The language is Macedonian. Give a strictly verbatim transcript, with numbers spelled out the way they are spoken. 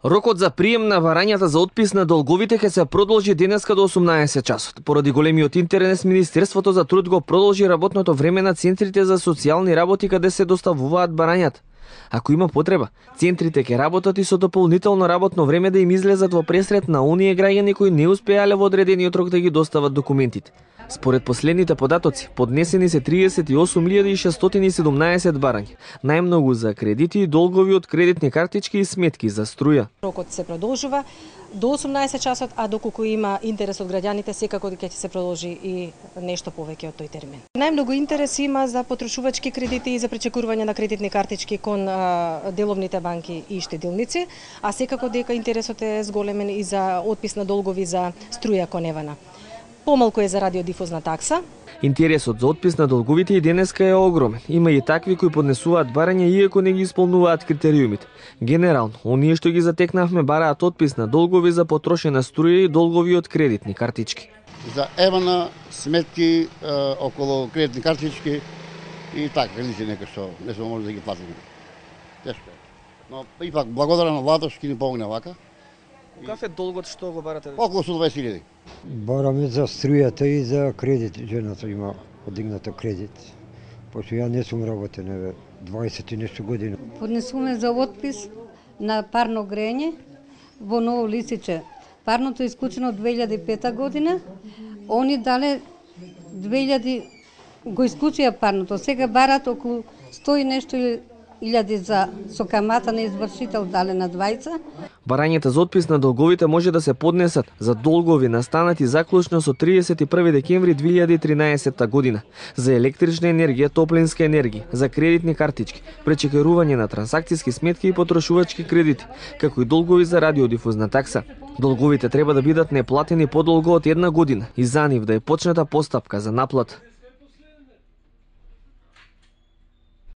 Рокот за прием на барањата за отпис на долговите ќе се продолжи денеска до осумнаесет часот. Поради големиот интерес, Министерството за труд го продолжи работното време на центрите за социјални работи каде се доставуваат барањата. Ако има потреба, центрите ќе работат и со дополнително работно време да им излезат во пресрет на оние граѓани кои не успеале во одредениот рок да ги достават документите. Според последните податоци, поднесени се триесет и осум илјади шестстотини и седумнаесет барања, најмногу за кредити и долгови од кредитни картички и сметки за струја. Рокот се продолжува до осумнаесет часот, а доколку има интерес од граѓаните, секако ќе се продолжи и нешто повеќе од тој термин. Најмногу интерес има за потрошувачки кредити и за пречекување на кредитни картички кон а, деловните банки и штедилници, а секако дека интересот е зголемен и за отпис на долгови за струја кон Евана. Помалку е за радиодифузна такса. Интересот за отпис на долговите и денеска е огромен. Има и такви кои поднесуваат барања иако не ги исполнуваат критериумите. Генерално, оние што ги затекнавме бараат отпис на долгови за потрошена струја и долгови од кредитни картички. За Евана, сметки е, околу кредитни картички и така, кредити нека што не сме може да ги платиме. Тешко е. Но ипак благодарам на владата што ќе ни помогне вака. Каков е долгот што го барате? Околу сто дваесет илјади. Бараме за струјата и за кредит. Жената има подигната кредит. Пошто ја не сум работен еве дваесет и нешто години. Поднесуваме за отпис на парно грење во Ново Лисиче. Парното е исклучено од две илјади и пета година. Они дале две илјади го исклучија парното. Сега барат околу сто и нешто илјади за со камата на извршител дале на двајца. Барањата за отпис на долговите може да се поднесат за долгови настанати заклучно со триесет и први декември две илјади и тринаесетта година, за електрична енергија, топлинска енергија, за кредитни картички, пречекирање на трансакциски сметки и потрошувачки кредити, како и долгови за радиодифузна такса. Долговите треба да бидат неплатени подолго од една година и за нив да е почната постапка за наплата.